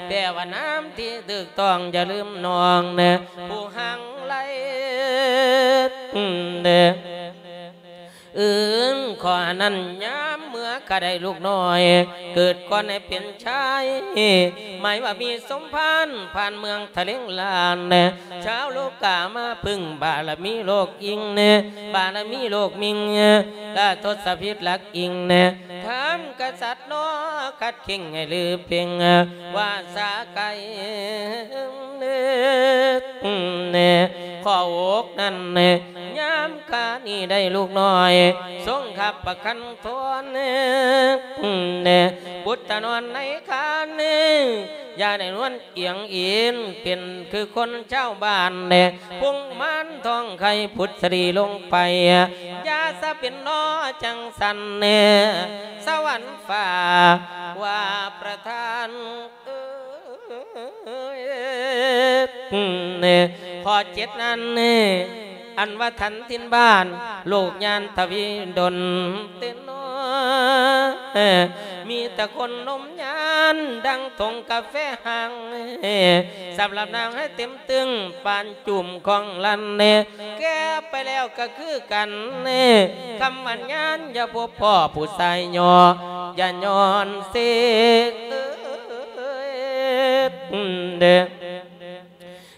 ແປວ່ານາມທີ່ຖືກຕ້ອງ ຢ່າລືມນ້ອງ ຜູ້ຮັ່ງໄຫຼ. ອືມ ຂໍອັນນັ້ນຍາມເມື່ອກະໄດ້ລູກນ້ອຍ ເກີດກ່ອນໃຫ້ເປັນຊາຍ ໝາຍວ່າມີສົມພານ ຜ່ານເມືອງທະເລງລານ ຊາວໂລກາມາເພິ່ງບາລະມີໂລກອີງ ບາລະມີໂລກມິງ ລະທົດສະພິດຫຼັກອີງ ທ່ານກະສັດນໍ ຂັດເຄັ່ງໃຫ້ລືເພັງ ວ່າສາໄກ ຂໍອົກນັ້ນ ຍາມການີ້ໄດ້ລູກນ້ອຍ ຊົງຮັບປະຄັນທອນ ບຸດຕະນອນໃນຄານ ຢ່າໄດ້ນວນອຽງອີນ ເປັນຄືຄົນຊາວບ້ານ ພຸງມານທ້ອງໄຂ່ ພຸດສະດີລົງໄປ ຢ່າສະເປັນໜໍຈັ່ງຊັ້ນ ສະຫວັນຟ້າວ່າປະທານ ຂໍ້ເຈັດນັ້ນ ອັນວ່າທັນຖິ່ນບ້ານ ໂລກຍານທະວີດົນເຕັນ ມີແຕ່ຄົນນົມຍານ ດັ່ງຖົງກາແຟຮັງ ສຳລັບນາງໃຫ້ເຕັມຕຶງ ປານຈຸ່ມຂອງລັນ ແກ່ໄປແລ້ວກະຄືກັນ ຄຳວ່າຍານ ຢ່າພົບພໍ້ຜູ້ຊາຍຍໍ ຢ່າຍ້ອນເສ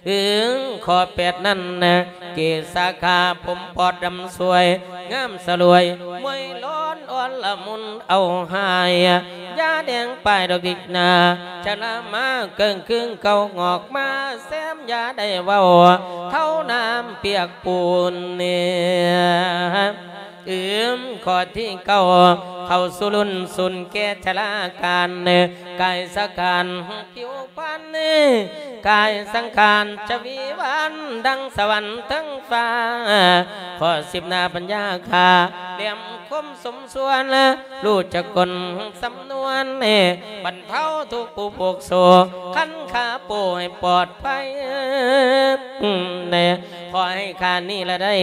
ເອີ ຂໍ້ແປດນັ້ນ ເກດສາຂາ ຜົມປອດດຳສວຍ ງາມສະຫຼວຍ ມວຍລ້ອນອ່ອນລະມຸນເອົາຫາຍ ຢ່າແດງປາຍດອກດິກໜາ ຊະລາມາເກິ່ງຄືງເກົ່າ ງອກມາແຊມ ຢ່າໄດ້ເວົ້າ ເທົານ້ຳປຽກປູນ ອືມ ຂໍ້ທີເກົ້າ ເຂົ້າສູ່ລຸ້ນສູນແກ່ຊະລາການ ກາຍສະການຜິວພັນ ກາຍສັງຂານຊະວີວັນ ດັ່ງສະຫວັນເທິງຟ້າ ຂໍ້ສິບໜ້າປັນຍາຂ້າ ແຫຼມຄົມສົມສ່ວນ ຮູ້ຈັກກົນສຳນວນ ບັນເທົາທຸກຜູ້ໂພກໂສ ຄັນຂາໂປ້ໃຫ້ປອດໄພ ຂໍໃຫ້ຂ້ານີ້ລະໄດ້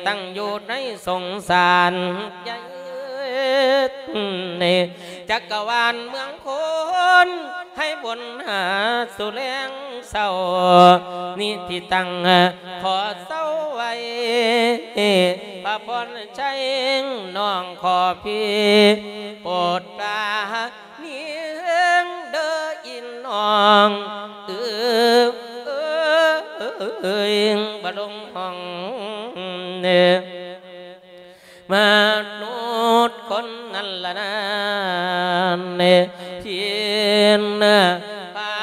ຕັ້ງຢູ່ໃນສົງສານໃຫຍ່ ຈັກກະວານເມືອງໂພນ ໃຫ້ບົນຫາສູ່ແລງເຊົ້າ ນີ້ທີ່ຕັ້ງຂໍເຊົາໄວ້ ພະພອນໄຊ ນ້ອງຂໍພີ່ ໂປດປາ ນີ້ເດີອີນ້ອງເອີຍ ບໍ່ລົງຫ້ອງເດີ ມະນຸດຄົນນັ້ນລະນານ ທີ່ນະພາ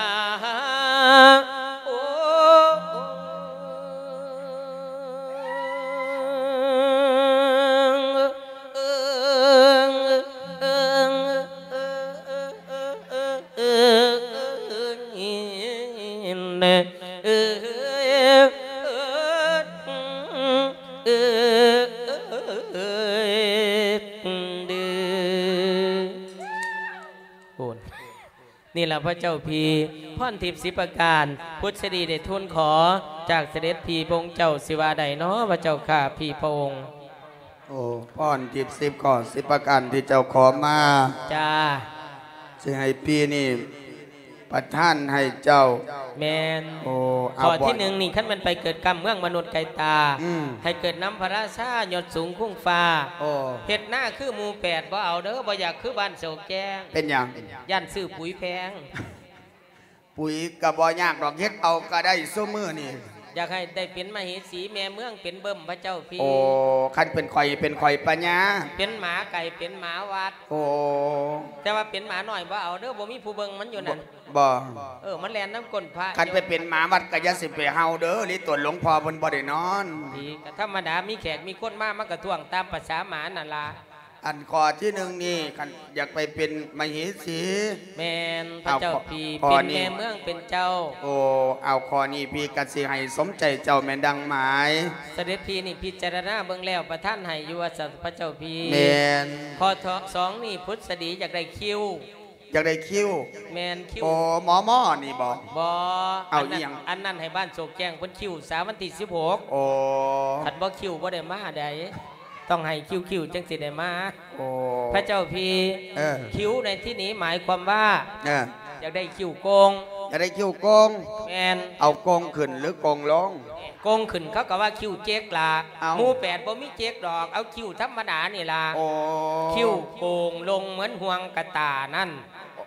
ໂອ ນີ້ລະພະເຈົ້າພີ່ ພອນທິບສິບປະການ ພຸດສະດີໄດ້ທູນຂໍຈາກສະເດັດພີ່ພະອົງເຈົ້າ ຊິວ່າໃດນໍພະເຈົ້າຂ້າ ພີ່ພະອົງ? ໂອ້ ພອນທິບສິບຂໍ້ສິບປະການທີ່ເຈົ້າຂໍມາ ຈ້າ ຊິໃຫ້ພີ່ນີ້ປະທານໃຫ້ເຈົ້າ. ແມ່ນ. ໂອ້ ເອົາ ຂໍ້ທີໜຶ່ງນີ້ ຄັນແມ່ນໄປເກີດກຳເມືອງມະນຸດໄກຕາ ອືມ ໃຫ້ເກີດນຳພະລາຊາຍອດສູງຄຸງຟ້າ. ໂອ້ ເຮັດນາຄືໝູ່ແປດບໍ່ເອົາເດີ ບໍ່ຢາກຄືບ້ານໂສກແຈ້ງ. ເປັນຫຍັງ? ຢ້ານຊື້ປຸຍແພງ. ປຸຍກະບໍ່ຍາກດອກ ເຮັດເອົາກະໄດ້ຊຸມື້ນີ້. ຢາກໃຫ້ໄດ້ເປັນມະເຫສີແມ່ເມືອງ ເປັນເບິ່ມພະເຈົ້າພີ່. ໂອ້ ຄັນເປັນຂ້ອຍ ເປັນຂ້ອຍປະຍາ ເປັນໝາໄກ່ ເປັນໝາວັດ. ໂອ້ ແຕ່ວ່າເປັນໝານ້ອຍບໍ່ເອົາເດີ ບໍ່ມີຜູ້ເບິ່ງມັນຢູ່ນັ້ນ. ບໍ່ ເອີ ມັນແລ່ນນຳກົ້ນພະ. ຄັນໄປເປັນໝາວັດກະຢ່າຊິໄປເຫົ່າເດີ ລິຕົນຫຼວງພໍ່ເພິ່ນບໍ່ໄດ້ນອນ. ດີ ກະທຳມະດາ ມີແຂກມີຄົນມາ ມັນກະທ້ວງຕາມປະສາໝານັ້ນລະ. ອັນຂໍ້ທີໜຶ່ງນີ້ ຄັນຢາກໄປເປັນມະເຫສີ. ແມ່ນ ພະເຈົ້າພີ່ ເປັນແມ່ເມືອງເປັນເຈົ້າ. ໂອ້ ເອົາ ຂໍ້ນີ້ພີ່ກະຊິໃຫ້ສົມໃຈເຈົ້າແມ່ນດັ່ງໝາຍ. ສະເດັດພີ່ນີ້ພິຈາລະນາເບິ່ງແລ້ວ ປະທານໃຫ້ຢູ່ວ່າຊັ້ນພະເຈົ້າພີ່. ແມ່ນ. ຂໍ້ສອງນີ້ ພຸດສະດີຢາກໄດ້ຄິວ. ຢາກໄດ້ຄິວ. ແມ່ນ ຄິວ. ໂອ້ ໝໍໝໍນີ້ບໍ່? ບໍ່ ເອົາ ອັນນັ້ນ ອີ່ຫຍັງ? ອັນນັ້ນໃຫ້ບ້ານໂສກແຈ້ງເພິ່ນຄິວສາວັນທີສິບຫົກ. ໂອ້ ຄັນບໍ່ຄິວບໍ່ໄດ້ມາໃດ ຕ້ອງໃຫ້ຄິວໆ ຈັ່ງຊິໄດ້ມາ. ໂອ້ ພະເຈົ້າພີ່. ເອີ ຄິວໃນທີ່ນີ້ໝາຍຄວາມວ່າ ເອີ ຢາກໄດ້ຄິ້ວໂກ່ງ. ຢາກໄດ້ຄິ້ວໂກ່ງ? ແມ່ນ. ເອົາໂກ່ງຂຶ້ນຫຼືໂກ່ງລົງ? ໂກ່ງຂຶ້ນເຂົາກໍວ່າຄິ້ວເຈັກລະ. ເອົ້າ ໝູ່ແປດບໍ່ມີເຈັກດອກ ເອົາຄິ້ວທຳມະດານີ້ລະ. ໂອ້ ຄິ້ວໂກ່ງລົງເໝືອນຫ່ວງກະຕ່ານັ້ນ.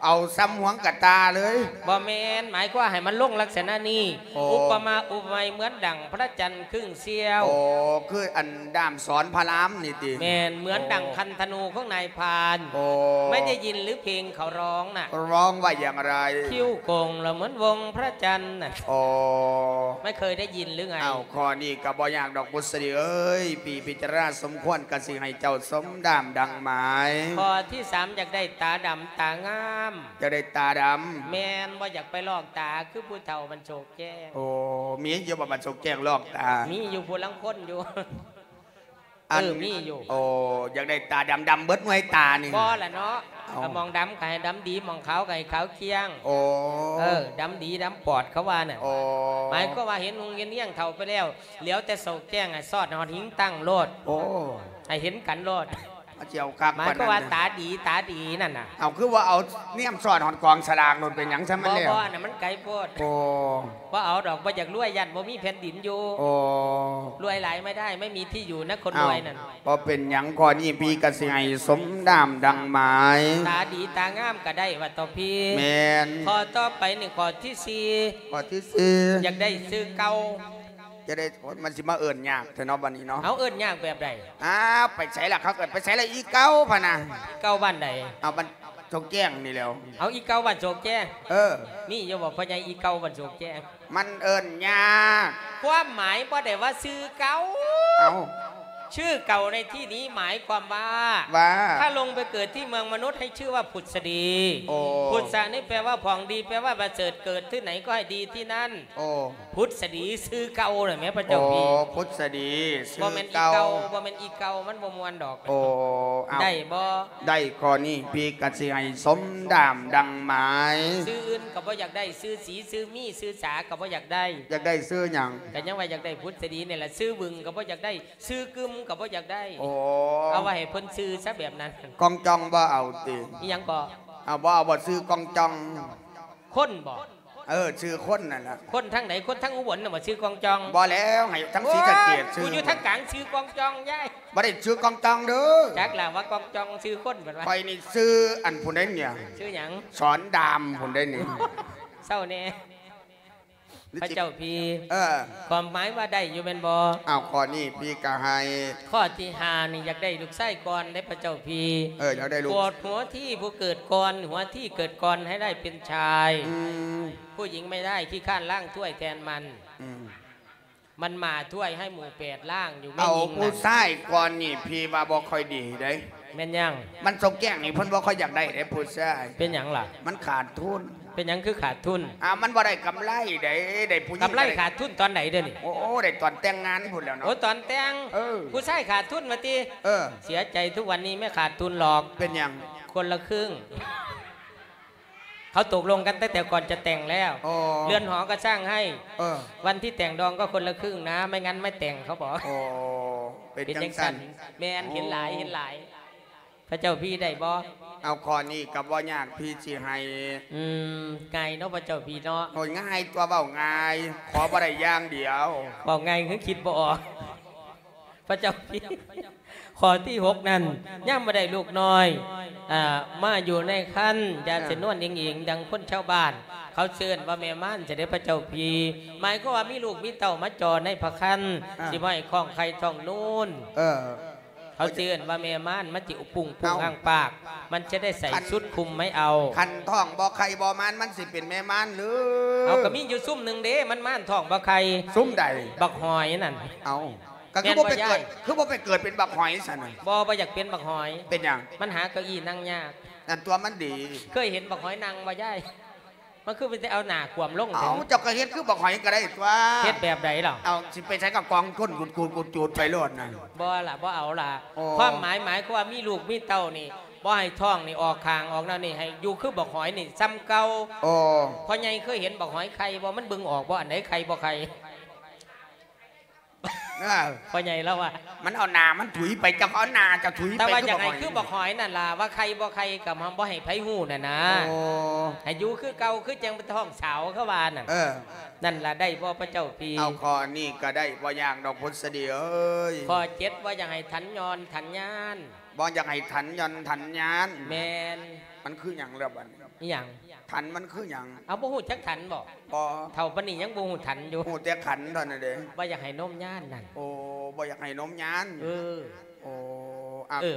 ເອົາຊ່ຳຫ່ວງກະຕ່າເລີຍ? ບໍ່ແມ່ນ, ໝາຍຄວາມໃຫ້ມັນລົງລັກສະນະນີ້. ໂອ້ ອຸປະມາອຸປະໄມເໝືອນດັ່ງພະຈັນຄຶ່ງສ່ຽວ. ໂອ້ ຄືອັນດ້າມສອນພະລາມນີ້ຕິ? ແມ່ນ, ເໝືອນດັ່ງຄັນທະນູຂອງນາຍພານ. ໂອ້ ໄມ່ໄດ້ຍິນຫຼືເພງເຂົາຮ້ອງນະ? ຮ້ອງວ່າຢ່າງໃດ? ຄິ້ວໂກ່ງລະເໝືອນວົງພະຈັນນະ. ໂອ້ ໄມ່ເຄີຍໄດ້ຍິນຫຼືໄງ? ອ້າວ ຂໍ້ນີ້ກໍບໍ່ຍາກດອກ ບຸດສະດີເອີຍ, ພີ່ພິຈາລະນາສົມຄວນກໍຊິໃຫ້ເຈົ້າສົມດາມດັ່ງໝາຍ. ຂໍ້ທີສາມ ຢາກໄດ້ຕາດຳຕາງາມ. ຢາກໄດ້ຕາດຳ? ແມ່ນ, ບໍ່ຢາກໄປລອກຕາຄືຜູ້ເຖົ້າບ້ານໂຊກແຈ້ງ. ໂອ້ ມີຢູ່ບໍ່ບ້ານໂຊກແຈ້ງລອກຕາ? ມີຢູ່ຜູ້ລາງຄົນຢູ່. ອັນ ເອີ ມີຢູ່. ໂອ້ ຢາກໄດ້ຕາດຳໆເບິດໜ່ວຍຕານີ້? ບໍ່ລະເນາະ. ເອົ້າ ກໍໝ່ອງດຳກໍໃຫ້ດຳດີ, ໝ່ອງຂາວກໍໃຫ້ຂາວກ້ຽງ. ໂອ້ ເອີ ດຳດີດຳປອດເຂົາວ່ານັ້ນ. ໂອ້ ໝາຍຄວາມວ່າເຫັນຮຸ່ງເຫັນຮຽງເຖົ້າໄປແລ້ວ, ຫຼຽວແຕ່ໂຊກແຈ້ງ ໃຫ້ຊອດຮອດຫິງຕັ້ງໂລດ. ໂອ້ ໃຫ້ເຫັນກັນໂລດ. ມາຊິເອົາຄັກປານນັ້ນ. ໝາຍຄວາມວ່າຕາດີ ຕາດີນັ້ນນະ. ເອົາ ຄືວ່າເອົາແນມຊອດຮອດກອງສະຫຼາກໂລດ ເປັນຫຍັງຊັ້ນມັນແລ້ວ? ບໍ່ ບໍ່ ອັນນັ້ນມັນໄກໂພດ. ໂອ້ ບໍ່ເອົາດອກ, ບໍ່ຢາກລວຍ, ຢ້ານບໍ່ມີແຜ່ນດິນຢູ່. ໂອ້ ລວຍຫຼາຍໄມ່ໄດ້, ໄມ່ມີທີ່ຢູ່ນະຄົນລວຍນັ້ນ. ເອົ້າ ບໍ່ເປັນຫຍັງ, ຂໍ້ນີ້ພີ່ກໍຊິໃຫ້ສົມດາມດັ່ງໝາຍ. ຕາດີຕາງາມກໍໄດ້ວ່າຕໍ່ພີ່. ແມ່ນ. ຂໍ້ຕໍ່ໄປນີ້ ຂໍ້ທີສີ່. ຂໍ້ທີສີ່ ຢາກໄດ້ຊື່ເກົ່າ. ຈະໄດ້ ໂອ້ຍ ມັນຊິມາເອີ້ນຍາກແທ້ເນາະ ບັດນີ້ເນາະ. ເອົາ ເອີ້ນຍາກແບບໃດ? ອ້າວ ໄປໃສລະ ເຂົາເອີ້ນໄປໃສລະ ອີເກົ່າພະນະ. ອີເກົ່າບ້ານໃດ? ເອົາ ບ້ານໂຊກແຈ້ງນີ້ແຫຼ້ວ. ເອົາ ອີເກົ່າບ້ານໂຊກແຈ້ງ. ເອີ ມີຢູ່ບໍ່ພໍ່ໃຫຍ່ ອີເກົ່າບ້ານໂຊກແຈ້ງ? ມັນເອີ້ນຍາກ. ຄວາມໝາຍບໍ່ໄດ້ວ່າຊື່ເກົ່າ. ເອົາ ຊື່ເກົ່າໃນທີ່ນີ້ໝາຍຄວາມວ່າ ວ່າ ຖ້າລົງໄປເກີດທີ່ເມືອງມະນຸດ ໃຫ້ຊື່ວ່າພຸດສະດີ. ໂອ້ ພຸດສະນີ້ແປວ່າຜອງດີ ແປວ່າປະເສີດ, ເກີດທີ່ໃດກໍໃຫ້ດີທີ່ນັ້ນ. ໂອ້ ພຸດສະດີຊື່ເກົ່ານະແມ່ພະເຈົ້າພີ່. ໂອ້ ພຸດສະດີຊື່ເກົ່າ. ບໍ່ແມ່ນອີເກົ່າ ບໍ່ແມ່ນອີເກົ່າ ມັນບໍ່ມ່ວນດອກ. ໂອ້ ເອົາ ໄດ້ບໍ່? ໄດ້ ຂໍ້ນີ້ພີ່ກໍຊິໃຫ້ສົມດາມດັ່ງໝາຍ. ຊື່ອື່ນກໍບໍ່ຢາກໄດ້, ຊື່ສີ ຊື່ມີ ຊື່ສາກໍບໍ່ຢາກໄດ້. ຢາກໄດ້ຊື່ຫຍັງ? ກໍຍັງວ່າຢາກໄດ້ພຸດສະດີນີ້ລະ. ຊື່ບຶງກໍບໍ່ຢາກໄດ້, ຊື່ກຶມກໍບໍ່ຢາກໄດ້. ໂອ້ ເອົາໄວ້ໃຫ້ເພິ່ນຊື່ຊະແບບນັ້ນ. ກອງຈອງບໍ່ເອົາຕິ? ອີຫຍັງກໍ? ເອົາ ບໍ່ເອົາບໍ່ຊື່ກອງຈອງ? ຄົນບໍ່? ເອີ ຊື່ຄົນນັ້ນລະ. ຄົນທາງໃດ? ຄົນທາງອຸບົນນະບໍ່ຊື່ກອງຈອງ? ບໍ່ແລ້ວ ໃຫ້ທາງສີສະເກດຊື່. ໂອ້ຍ ຢູ່ທາງກາງຊື່ກອງຈອງຍາຍ. ບໍ່ໄດ້ຊື່ກອງຈອງເດີ. ຈັກລະວ່າກອງຈອງຊື່ຄົນເພິ່ນວ່າ. ຂ້ອຍນີ້ຊື່ອັນຜູ້ໃດນີ້? ຊື່ຫຍັງ? ສອນດາມຜູ້ໃດນີ້? ເຊົາແດ່ ພະເຈົ້າພີ່. ເອີ ຄວາມໝາຍວ່າໄດ້ຢູ່ແມ່ນບໍ່? ອ້າວ ຂໍ້ນີ້ພີ່ກໍໃຫ້. ຂໍ້ທີຫ້ານີ້ ຢາກໄດ້ລູກຊາຍກ່ອນເດ້ພະເຈົ້າພີ່. ເອີ ຢາກໄດ້ລູກ. ໂປດຫົວທີຜູ້ເກີດກ່ອນ, ຫົວທີເກີດກ່ອນໃຫ້ໄດ້ເປັນຊາຍ. ອືມ ຜູ້ຍິງໄມ່ໄດ້, ຂີ້ຄ້ານລ້າງຖ້ວຍແທນມັນ. ອືມ ມັນໝ້າຖ້ວຍໃຫ້ໝູ່ແປດລ້າງຢູ່. ເອົາ ແມ່ຍິງນັ້ນ ຜູ້ຊາຍກ່ອນນີ້ ພີ່ວ່າບໍ່ຄ່ອຍດີເດ້. ແມ່ນຫຍັງ? ມັນໂຊກແຈ້ງນີ້ ເພິ່ນບໍ່ຄ່ອຍຢາກໄດ້ເດ້ຜູ້ຊາຍ. ເປັນຫຍັງລະ? ມັນຂາດທຶນ. ເປັນຫຍັງຄືຂາດທຶນ? ອ້າວ ມັນບໍ່ໄດ້ກຳໄລເດ້. ໄດ້ຜູ້ຍິງ ກຳໄລຂາດທຶນຕອນໃດເດີນີ້? ໂອ້ ໄດ້ຕອນແຕ່ງງານພຸ້ນແລ້ວເນາະ. ໂອ້ ຕອນແຕ່ງ. ເອີ ຜູ້ຊາຍຂາດທຶນວ່າຕິ? ເອີ ເສຍໃຈ, ທຸກວັນນີ້ບໍ່ຂາດທຶນດອກ. ເປັນຫຍັງ? ຄົນລະຄຶ່ງ. ເຂົາຕົກລົງກັນຕັ້ງແຕ່ກ່ອນຈະແຕ່ງແລ້ວ. ໂອ້ ເຮືອນຫໍກໍສ້າງໃຫ້. ເອີ ວັນທີ່ແຕ່ງດອງກໍຄົນລະຄຶ່ງນະ, ໄມ່ງັ້ນໄມ່ແຕ່ງເຂົາບອກ. ໂອ້ ເປັນ ເປັນຈັ່ງຊັ້ນ. ຈັ່ງຊັ້ນ. ແມ່ນ. ໂອ້ ເຫັນຫຼາຍ ເຫັນຫຼາຍ. ພະເຈົ້າພີ່ໄດ້ບໍ່? ເອົາ ຂໍ້ນີ້ກໍບໍ່ຍາກ ພີ່ຊິໃຫ້. ອືມ ງ່າຍເນາະພະເຈົ້າພີ່ເນາະ. ໂອ້ຍ ງ່າຍຕົວະ ເວົ້າງ່າຍ, ຂໍບໍ່ໄດ້ຢ່າງດຽວ. ເວົ້າງ່າຍຄືຄິດບໍ່ອອກ ພະເຈົ້າພີ່. ຂໍ້ທີຫົກນັ້ນ ຍາມບໍ່ໄດ້ລູກນ້ອຍ ອ່າ ມາຢູ່ໃນຄັນ ຢ່າ ອ່າ ຊິນວນອີງໆ ດັ່ງຄົນຊາວບ້ານ ເຂົາເອີ້ນວ່າແມ່ມານຊະເດ້ພະເຈົ້າພີ່. ໝາຍຄວາມວ່າມີລູກມີເຕົ້າມາຈໍ່ໃນພະຄັນ ອ່າ ຊິບໍ່ໃຫ້ທ້ອງໄຂ່ທ້ອງນູນ. ເອີ ເຂົາຊິເອີ້ນວ່າແມ່ມານ ມັນຊິອຸປຸງປຸງ ເອົ້າ ອ້າງປາກ ມັນຈະໄດ້ໃສ່ຊຸດຄຸມໄມ້ເອົາ. ຄັນທ້ອງບໍ່ໄຂ່ບໍ່ມານ ມັນຊິເປັນແມ່ມານຫຼື? ເອົາ ກໍມີຢູ່ຊຸມໜຶ່ງເດ້ ມັນມານທ້ອງບໍ່ໄຂ່. ຊຸມໃດ? ບັກຫອຍນັ້ນ. ເອົ້າ ກໍຄືບໍ່ໄປເກີດ ແມ່ນບໍ່ຍາຍ? ຄືບໍ່ໄປເກີດເປັນບັກຫອຍຊັ້ນນະ? ບໍ່ ບໍ່ຢາກເປັນບັກຫອຍ. ເປັນຫຍັງ? ມັນຫາເກົ້າอี้ນັ່ງຍາກ. ນັ້ນຕົວະ ມັນດີ. ເຄີຍເຫັນບັກຫອຍນັ່ງບໍ່ຍາຍ? ມັນຄືໄປເອົາໜ້າຂວ້ຳລົງ. ເອົ້າ ເຈົ້າກໍເຮັດຄືບັກຫອຍກໍໄດ້ຕົວະ. ເຮັດແບບໃດລະ? ເອົາ ຊິໄປໃສກໍກອງກົ້ນກຸດໆໆໄປໂລດນະ. ບໍ່ລະ ບໍ່ເອົາລະ. ໂອ້ ຄວາມໝາຍ ໝາຍຄວາມວ່າມີລູກມີເຕົ້ານີ້ ບໍ່ໃຫ້ທ້ອງນີ້ອອກຂ້າງອອກນັ້ນນີ້ ໃຫ້ຢູ່ຄືບັກຫອຍນີ້ ຊ່ຳເກົ່າ. ໂອ້ ພໍ່ໃຫຍ່ເຄີຍເຫັນບັກຫອຍໄຂ່ບໍ່? ມັນເບິ່ງອອກບໍ່ ອັນໃດໄຂ່ບໍ່ໄຂ່? ເອີ ພໍ່ໃຫຍ່ລາວວ່າ ມັນເອົາໜ້າມັນຖຸຍໄປ ເຈົ້າກໍເອົາໜ້າເຈົ້າຕຸຍໄປ. ແຕ່ວ່າຢາກໃຫ້ຄືບັກຫອຍນັ້ນລະ ວ່າໄຂ່ບໍ່ໄຂ່ກໍບໍ່ໃຫ້ໃຜຮູ້ນັ້ນນະ. ໂອ້ ໃຫ້ຢູ່ຄືເກົ່າ ຄືຈັ່ງເປັນທ້ອງສາວ ເຂົາວ່ານັ້ນ. ເອີ ນັ້ນລະ ໄດ້ບໍ່ພະເຈົ້າພີ່? ເອົາ ຂໍ້ນີ້ກໍໄດ້ ບໍ່ຍາກດອກ ພຸດສະດີເອີຍ. ຂໍ້ເຈັດ ບໍ່ຢາກໃຫ້ຖັນຍ້ອນຖັນຍານ. ບໍ່ຢາກໃຫ້ຖັນຍ້ອນຖັນຍານ. ແມ່ນ. ມັນຄືຫຍັງລະບັດນີ້? ອີຫຍັງ? ຖັນມັນຄືຫຍັງ? ເອົາ ບໍ່ຮູ້ຈັກຖັນບໍ? ບໍ່. ເຖົ້າປານນີ້ຍັງບໍ່ຮູ້ຖັນຢູ່. ຮູ້ແຕ່ຂັນເທົ່ານັ້ນເດ້. ບໍ່ຢາກໃຫ້ນົມຍານນັ້ນ. ໂອ້ ບໍ່ຢາກໃຫ້ນົມຍານ. ເອີ ໂອ້ ອາ ເອີ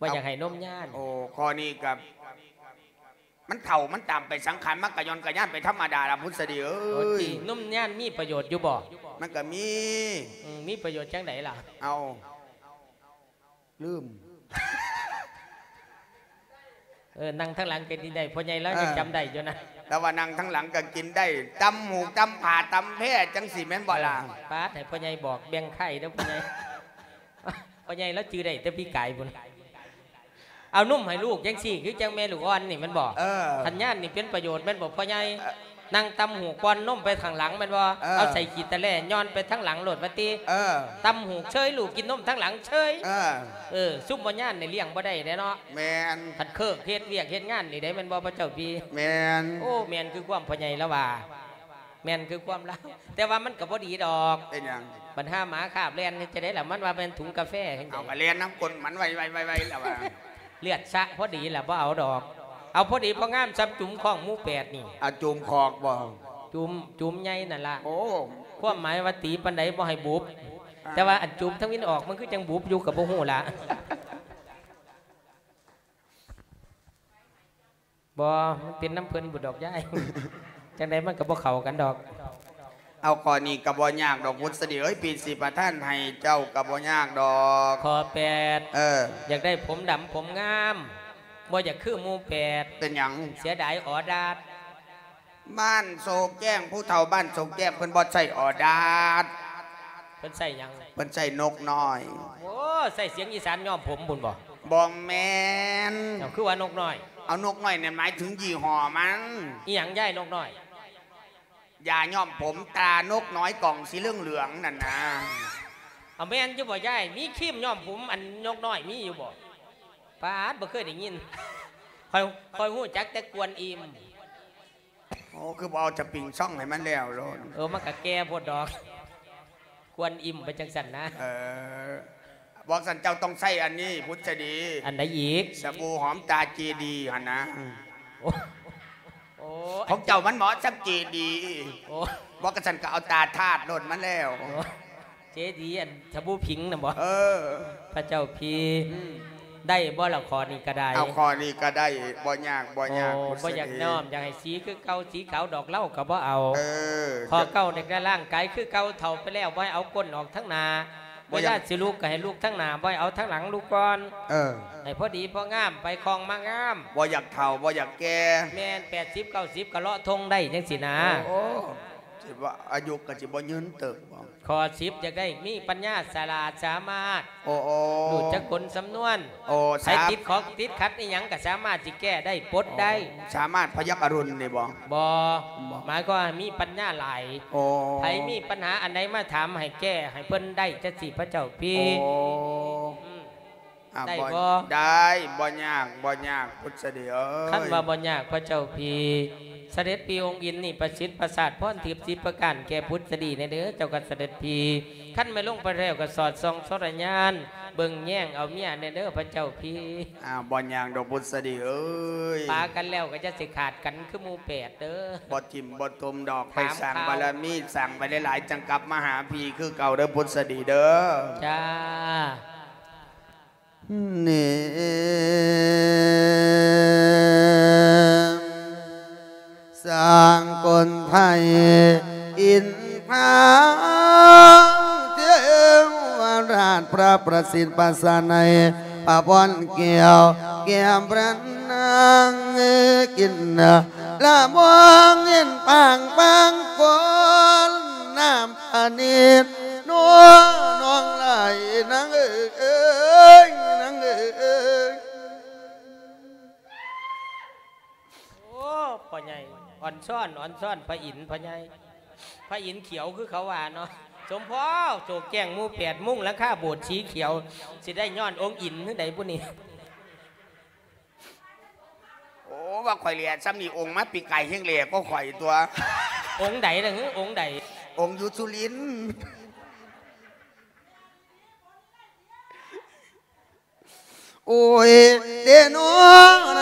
ບໍ່ຢາກໃຫ້ນົມຍານ. ໂອ້ ຂໍ້ນີ້ກໍ ມັນເຖົ້າມັນຕາມໄປ ສັງຂານມັນກະຍ້ອນກະຍານໄປທຳມະດາລະ ພຸດສະດີເອີຍ. ໂອ້ ຕິ ນົມຍານມີປະໂຫຍດຢູ່ບໍ? ມັນກະມີ. ອືມ ມີປະໂຫຍດຈັ່ງໃດລະ? ເອົາ ລືມ. ເອີ ນັ່ງທາງຫຼັງກໍກິນໄດ້ ພໍ່ໃຫຍ່ລາວຍັງຈຳໄດ້ຢູ່ນະ. ແຕ່ວ່ານັ່ງທາງຫຼັງກໍກິນໄດ້ ຕຳຫູກ ຕຳຜາ ຕຳແພ ຈັ່ງຊີ້ແມ່ນບໍ່ລະ? ເອີ ປາດ ໃຫ້ພໍ່ໃຫຍ່ບອກແບ່ງໄຂ່ເດີພໍ່ໃຫຍ່. ພໍ່ໃຫຍ່ລາວຈື່ໄດ້ແຕ່ປີກາຍພຸ້ນ. ເອົານົມໃຫ້ລູກຈັ່ງຊີ້ ຄືຈັ່ງແມ່ລູກອ່ອນນີ້ແມ່ນບໍ່? ເອີ ຂັນຍານນີ້ເປັນປະໂຫຍດແມ່ນບໍ່ພໍ່ໃຫຍ່? ເອີ ນັ່ງຕຳຫູກປ້ອນນົມໄປທາງຫຼັງແມ່ນບໍ່? ເອີ ເອົາໃສ່ຂີ້ຕະແຫຼຍ້ອນໄປທາງຫຼັງໂລດວ່າຕິ. ເອີ ຕຳຫູກເຊີຍ ລູກກິນນົມທາງຫຼັງເຊີຍ. ເອີ ເອີ ຊຸມບໍ່ຍານນີ້ລ້ຽງບໍ່ໄດ້ເດ້ເນາະ. ແມ່ນ. ຄັນເຄີກເຮັດວຽກເຮັດງານນີ້ໄດ້ແມ່ນບໍ່ ພະເຈົ້າພີ່? ແມ່ນ. ໂອ້ ແມ່ນຄືຄວາມພໍ່ໃຫຍ່ລາວວ່າ. ແມ່ນຄືຄວາມລາວ ແຕ່ວ່າມັນກໍບໍ່ດີດອກ. ເປັນຫຍັງ? ບັນຫາໝາຄາບແລ່ນເຮັດຈັ່ງໃດລະ ມັນວ່າແມ່ນຖົງກາແຟຈັ່ງໃດ. ເອົາ ກໍແລ່ນນຳກົ້ນມັນໄວໆໆໆລະວ່າ. ເລືອດຊະພໍດີລະ ບໍ່ເອົາດອກ. ເອົາພໍດີພໍງາມສ່ຳຈຸ່ມຂອງໝູ່ແປດນີ້. ອາ ຈຸ່ມຂອກບໍ່? ຈຸ່ມ ຈຸ່ມໃຫຍ່ນັ້ນລະ. ໂອ້ ຄວາມໝາຍວ່າຕີປານໃດບໍ່ໃຫ້ບຸບ. ອ່າ ແຕ່ວ່າອັນຈຸ່ມທາງວິນອອກມັນຄືຈັ່ງບຸບຢູ່ກໍບໍ່ຮູ້ລະ. ບໍ່ ມັນເປັນນຳເພິ່ນພຸ້ນດອກຍາຍ. ຈັ່ງໃດມັນກໍບໍ່ເຂົ້າກັນດອກ. ເອົາ ຂໍ້ນີ້ກໍບໍ່ຍາກດອກ ພຸດສະດີເອີຍ ພີ່ຊິປະທານໃຫ້ເຈົ້າກໍບໍ່ຍາກດອກ. ຂໍ້ແປດ ເອີ ຢາກໄດ້ຜົມດຳຜົມງາມ ບໍ່ຢາກຄືໝູ່ແປດ. ເປັນຫຍັງ? ເສຍດາຍອໍດາດ. ບ້ານໂຊແກ້ງ ຜູ້ເຖົ້າບ້ານໂຊແກ້ງເພິ່ນບໍ່ໃຊ້ອໍດາດ. ເພິ່ນໃຊ້ຫຍັງ? ເພິ່ນໃຊ້ນົກນ້ອຍ. ໂອ້ ໃຊ້ສຽງອີສານຍ້ອມຜົມພຸ້ນບໍ່? ບໍ່ແມ່ນ. ເອົາ ຄືວ່ານົກນ້ອຍ? ເອົາ ນົກນ້ອຍນັ້ນໝາຍເຖິງຍີ່ຫໍ້ມັນ. ອີຫຍັງຍາຍນົກນ້ອຍ? ຢາຍ້ອມຜົມຕານົກນ້ອຍກ່ອງສີເຫຼືອງໆນັ້ນນະ. ເອົາ ແມ່ນຢູ່ບໍ່ຍາຍ? ມີຄຣີມຍ້ອມຜົມອັນນົກນ້ອຍມີຢູ່ບໍ່? ປາດ ບໍ່ເຄີຍໄດ້ຍິນ. ຂ້ອຍ ຂ້ອຍຮູ້ຈັກແຕ່ກວນອີ່ມ. ໂອ້ ຄືບໍ່ເອົາຈະປິງຊ່ອງໃຫ້ມັນແລ້ວໂລດ? ເອີ ມັນກະແກ່ໂພດດອກ ກວນອີ່ມໄປຈັ່ງຊັ້ນນະ. ເອີ ບໍ່ຊັ້ນເຈົ້າຕ້ອງໃຊ້ອັນນີ້ ພຸດສະດີ. ອັນໃດອີກ? ສະບູຫອມຕາເຈດີຫັ້ນນະ. ໂອ້ ໂອ້ ຂອງເຈົ້າມັນເໝາະສ່ຳເຈດີ. ໂອ້ ບໍ່ ກະຊັ້ນກະເອົາຕາທາດໂລດມັນແລ້ວ. ໂອ້ ເຈດີ ອັນສະບູຜິງນະບໍ່? ເອີ ພະເຈົ້າພີ່. ອືມ ໄດ້ບໍ່ລະ? ຂໍ້ນີ້ກະໄດ້. ເອົາ ຂໍ້ນີ້ກະໄດ້ ບໍ່ຍາກ ບໍ່ຍາກ. ໂອ້ ບໍ່ຢາກນ້ອມ ຢາກໃຫ້ສີຄືເກົ່າ ສີຂາວດອກເລົາກະບໍ່ເອົາ. ເອີ ຂໍ້ເກົ້າ ຢາກໄດ້ຮ່າງກາຍຄືເກົ່າ ເຖົ້າໄປແລ້ວບໍ່ໃຫ້ເອົາກົ້ນອອກທາງໜ້າ. ເວລາຊິລຸກກະໃຫ້ລຸກທາງໜ້າ ບໍ່ໃຫ້ເອົາທາງຫຼັງລຸກກ່ອນ. ເອີ ໃຫ້ພໍດີພໍງາມ ໄປຄ່ອງມາງາມ. ບໍ່ຢາກເຖົ້າ ບໍ່ຢາກແກ່. ແມ່ນ ແປດສິບ ເກົ້າສິບ ກະເລາະທົ່ງໄດ້ຈັ່ງຊີ້ນະ. ໂອ້ ຊິວ່າອາຍຸກະຊິບໍ່ຍືນເຕີບ. ຂໍ້ສິບ ຢາກໄດ້ມີປັນຍາສະຫຼາດສາມາດ. ໂອ້ ໂອ້ ຮູ້ຈັກກົນສຳນວນ. ໂອ້ ໃຜຕິດຂໍ້ຕິດຂັດອີ່ຫຍັງກະສາມາດຊິແກ້ໄດ້ປົດໄດ້. ໂອ້ ສາມາດພະຍັກອະລຸນນີ້ບໍ່? ບໍ່ ບໍ່ ໝາຍຄວາມວ່າມີປັນຍາຫຼາຍ. ໂອ້ ໃຜມີປັນຫາອັນໃດມາຖາມໃຫ້ແກ້ໃຫ້ເພິ່ນໄດ້ຈັກຊີ້ ພະເຈົ້າພີ່. ໂອ້ ອືມ ອາ ໄດ້ບໍ່? ບໍ່ ໄດ້ ບໍ່ຍາກ ບໍ່ຍາກ ພຸດສະດີເອີຍ. ຄັນວ່າບໍ່ຍາກ ພະເຈົ້າພີ່ ສະເດັດພີ່ອົງອິນນີ້ປະສິດປະສາດພອນທິບສິບປະການແກ່ພຸດສະດີແດ່ເດີ ເຈົ້າຂ້າສະເດັດພີ່. ຄັນແມ່ນລົງໄປແລ້ວກໍສອດສ່ອງສອດສະຍານ ເບິ່ງແຍງເອົາເມຍແດ່ເດີ ພະເຈົ້າພີ່. ອາ ບໍ່ຍາກດອກ ພຸດສະດີເອີຍ. ປາກັນແລ້ວກໍຢ່າຊິຂາດກັນຄືໝູ່ແປດເດີ. ບໍ່ຖິ້ມບໍ່ຕົມດອກ ໄປສ້າງບາລະມີ ສ້າງໄປຫຼາຍໆ ຈັ່ງກັບມາຫາພີ່ຄືເກົ່າເດີ ພຸດສະດີເດີ. ຈ້າ. ນີ້ ສ້າງກົນໄທອິນພາ ເທວະລາດພະປະສິດປະສານໃນພະພອນແກ້ວ ແກ້ມພະນາງກິນລະບອງເຫັນປາງປາງຄົນນຳ ອານິດນົວນ້ອງຫຼາຍນາງເອີຍ ນາງເອີຍ. ໂອ້ ພໍ່ໃຫຍ່ ອ່ອນຊ້ອນ ອ່ອນຊ້ອນ ພະອິນ ພໍ່ໃຫຍ່ ພະອິນຂຽວຄືເຂົາວ່າເນາະ. ສົມພໍໂສກແຈ້ງໝູ່ແປດມຸງ ຫຼັງຄາໂບດສີຂຽວ ຊິໄດ້ຍ້ອນອົງອິນຄືໃດບຸນີ້? ໂອ້ ວ່າຂ້ອຍແຫຼະ ຊ່ຳນີ້ອົງມາປີກາຍແຮ່ງແຫຼກວ່າຂ້ອຍຕົວະ. ອົງໃດລະຫື ອົງໃດ? ອົງຢູ່ສຸລິນ. ໂອ້ຍ ເດເນາະ ໃນ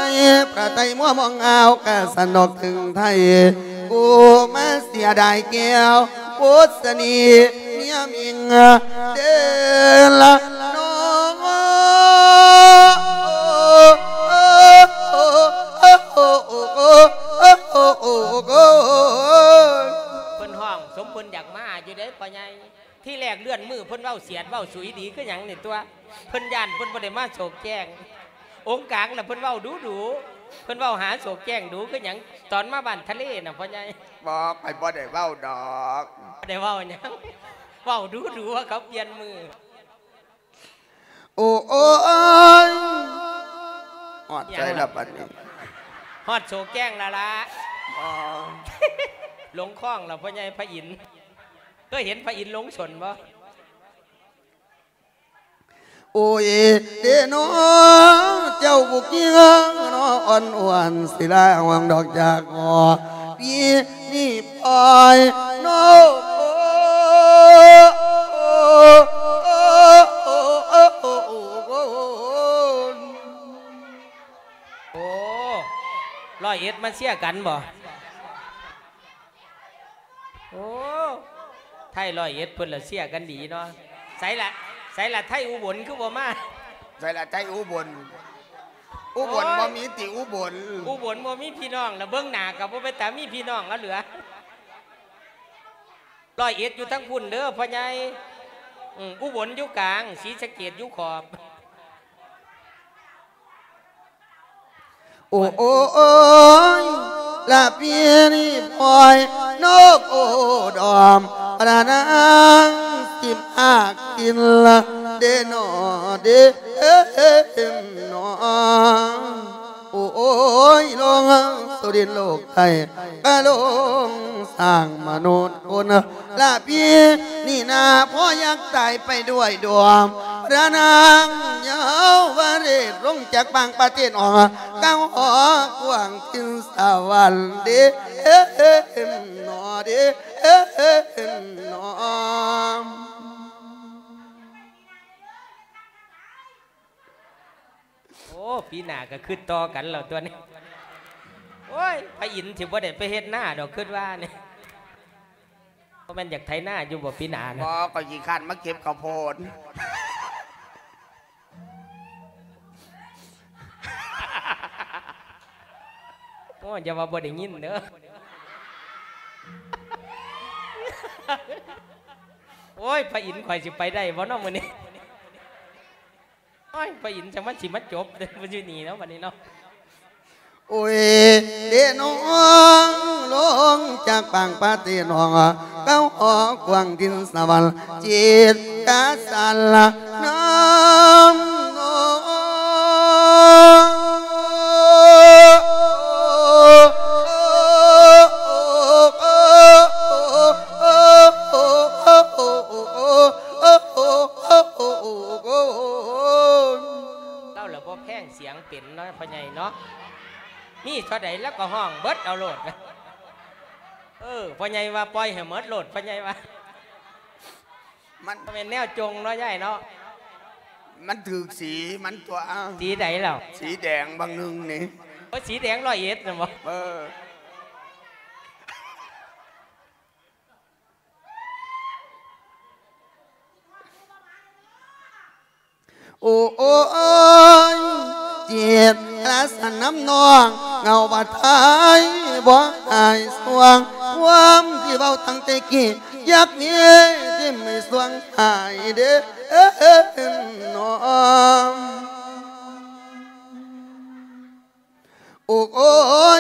ພະໄທມົວມອງອາວ ກະສະໜອກເຖິງໄທ ກູມາເສຍດາຍແກ້ວໂພດສະເໜ່ເມຍມິງເດລະເນາະ. ເພິ່ນຮ້ອງສົມເພິ່ນຢາກມາຢູ່ເດ້ພໍ່ໃຫຍ່. ທີແລກເລື່ອນມືເພິ່ນເວົ້າສຽດເວົ້າສຸຍດີຄືຫຍັງນີ້ຕົວະ ເພິ່ນຢ້ານເພິ່ນບໍ່ໄດ້ມາໂສກແຈ້ງ. ອົງກາງລະເພິ່ນເວົ້າດຸໆ ເພິ່ນເວົ້າຫາໂສກແຈ້ງດຸຄືຫຍັງ ຕອນມາບ້ານທະເລນະພໍ່ໃຫຍ່. ບໍ່ ຂ້ອຍບໍ່ໄດ້ເວົ້າດອກ. ບໍ່ໄດ້ເວົ້າຫຍັງ ເວົ້າດຸໆວ່າເຂົາປ່ຽນມື. ໂອ້ຍ ຮອດໃສລະບັດນີ້? ຮອດໂສກແຈ້ງລະລະ. ອໍ ລົງຄ້ອງລະພໍ່ໃຫຍ່ພະອິນ. ເຄີຍເຫັນພະອິນລົງຊົນບໍ່? ໂອ້ຍ ເດເນາະ ເຈົ້າຜູ້ກິງເນາະ ອ່ອນອວນສິລາຫວັງດອກຈາກຫໍ ປີນີ້ປ່ອຍເນາະ. ໂອ້ ຮ້ອຍເອັດມາເຊຍກັນບໍ່? ໂອ້ ໄທຮ້ອຍເອັດເພິ່ນລະເຊຍກັນດີເນາະ. ໃສລະ ໃສລະໄທອຸບົນຄືບໍ່ມາ? ໃສລະໄທອຸບົນ? ອຸບົນ ໂອ້ຍ ບໍ່ມີຕິອຸບົນ? ອຸບົນບໍ່ມີພີ່ນ້ອງລະ ເບິ່ງໜ້າກະບໍ່ເປັນຕາມີພີ່ນ້ອງລະເຫຼືອ. ຮ້ອຍເອັດຢູ່ທາງພຸ້ນເດີພໍ່ໃຫຍ່. ອື ອຸບົນຢູ່ກາງ ສີສະເກດຢູ່ຂອບ. ໂອ້ ໂອ້ ໂອ້ຍ ລະປີນີ້ປ່ອຍນົກໂອດອມ ລະນາງສິບຫ້າກິນລະເດເນາະ ເດເນາະ. ໂອ້ຍ ລົງສຸລິນໂລກໄທ ກະລົງສ້າງມະນຸດຄົນ ລະປີນີ້ນາ ພໍ່ຢາກຕາຍໄປດ້ວຍດວງ ພະນາງເຍົາວະເລດ ລົງຈາກບາງປະເທດອອກ ກາງຫອກວ້າງຖິ່ນສະຫວັນເດເນາະ ເດເນາະ. ໂອ້ ປີໜ້າກະຄຶດຕໍ່ກັນແລ້ວຕົວນີ້. ໂອ້ຍ ພະອິນຊິບໍ່ໄດ້ໄປເຮັດນາດອກ ຄຶດວ່ານີ້. ບໍ່ແມ່ນຢາກໄຖນາຢູ່ບໍ່ປີໜ້ານະ? ບໍ່ ຂ້ອຍຂີ້ຄ້ານມາເກັບເຂົ້າໂພດ. ໂອ້ຍ ຢ່າວ່າບໍ່ໄດ້ຍິນເດີ. ໂອ້ຍ ພະອິນ ຂ້ອຍຊິໄປໄດ້ບໍ່ເນາະມື້ນີ້? ໂອ້ຍ ພະອິນ ຈັ່ງມັນຊິມາຈົບຢູ່ນີ້ເນາະ ບັດນີ້ເນາະ. ໂອ້ຍ ເດນ້ອງ ລົງຈາກປາງປາເຕນ້ອງ ເຂົ້າຫອກວ້າງຖິ່ນສະຫວັນ ຈິດກະສັນລະນຳນ້ອງ. ລາວລະບໍ່ແພງສຽງເປັນເນາະ ພໍ່ໃຫຍ່ເນາະ, ມີເທົ່າໃດລາວກໍຮ້ອງເບິດເອົາໂລດ. ເອີ ພໍ່ໃຫຍ່ວ່າປ່ອຍໃຫ້ໝົດໂລດ ພໍ່ໃຫຍ່ວ່າ. ມັນ ບໍ່ແມ່ນແນວຈົ່ງເນາະ ຍາຍເນາະ, ມັນຖືກສີມັນຕົວະ. ສີໃດລາວ? ສີແດງບາງໜຶ່ງນີ້. ໂອ້ ສີແດງຮ້ອຍເອັດນະບໍ່? ເອີ. ໂອ້ ໂອ້ຍ ຈິດລະສັນນຳນ້ອງ ເຫງົາບາດໄທບໍ່ຫາຍສວງ ຄວາມທີ່ເວົ້າຕັ້ງແຕ່ກີ້ ຢາກມີທີ່ມີສວງຫາຍເດ້ນ້ອງ. ໂອ້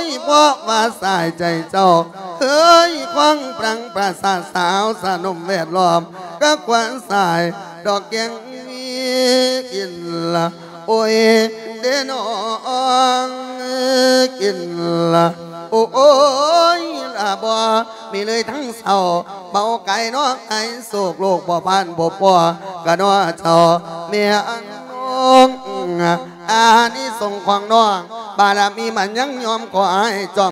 ຍ ເພາະວ່າສາຍໃຈເຈົ້າ ເຄີຍຄວາງປາງປາສາດສາວສະໜົມແວດລ້ອມ ກະຄວານສາຍດອກແກ້ງມີກິນລະ ໂອ້ຍ ເດ້ນ້ອງ ກິນລະ ໂອ້ຍ ບໍ່ມີເລີຍທັງເສົ້າ ເບົາກາຍເນາະ ໃຫ້ໂຊກໂລກບໍ່ຜ່ານບໍ່ພໍ ກະເນາະເຈົ້າແມ່ອັນນ້ອງ ອານິສົງຂອງນ້ອງ ບາລະມີມັນຍັງຍອມ ຂໍໃຫ້ຈອມ